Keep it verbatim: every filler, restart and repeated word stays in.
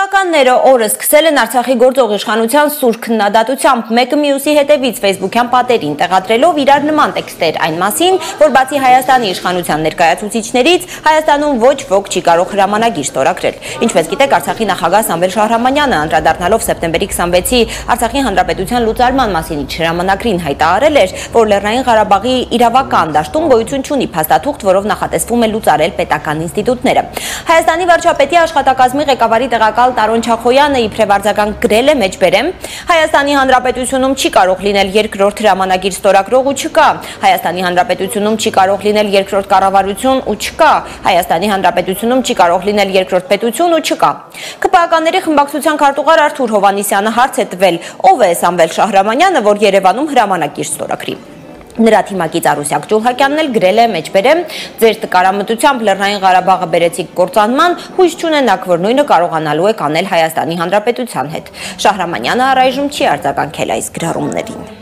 Քպականները օրը սկսել են Արցախի գործող իշխանության սուր քննադատությամբ մեկը մյուսի հետևից Facebook-յան պատերին տեղադրելով իրար նման տեքստեր այն մասին, որ բացի Հայաստանի իշխանության ներկայացուցիչներից Հայաստանում ոչ ոք չի կարող հրամանագիր ստորագրել։ Ինչպես գիտեք, Արցախի նախագահ Սամվել Շահրամանյանը անդրադառնալով սեպտեմբերի քսանվեցի Արցախի հանրապետության լուծարման մասին իր հրամանագրին հայտարարել էր, որ Լեռնային Ղարաբաղի իրավական դաշտում գոյություն չունի փաստաթուղթ, որով նախատեսվում է լուծարել պետական ինստիտուտները։ Հայաստանի վարչապետի աշխատակազմի ղեկավարի տեղակալ Տարոն Չախոյանը իբրև արձագանք գրել է մեջբերեմ. Հայաստանի Հանրապետությունում չի կարող լինել երկրորդ հրամանագիր ստորագրող ու չկա։ Հայաստանի Հանրապետությունում չի կարող լինել երկրորդ կառավարություն ու չկա։ Հայաստանի Հանրապետությունում չի կարող լինել երկրորդ պետություն ու չկա։ Քպականների խմբակցության քարտուղար Արթուր Հովհաննիսյանը հարց է տվել. ով է Սամվել Շահրամանյանը, որ Երևանում հրամանագիր ստորագրի։ Նրա թիմակից Արուսյակ Ջուլհակյանն էլ գրել է մեջբերեմ. ձեր տկարամտությամբ Լեռնային Ղարաբաղը բերեցիք գործանման, հույս չունենաք, որ նույնը կարողանալու եք անել Հայաստանի Հանրապետության հետ։ Շահրամանյանը առայժմ չի արձագանքել այս գրառումներին։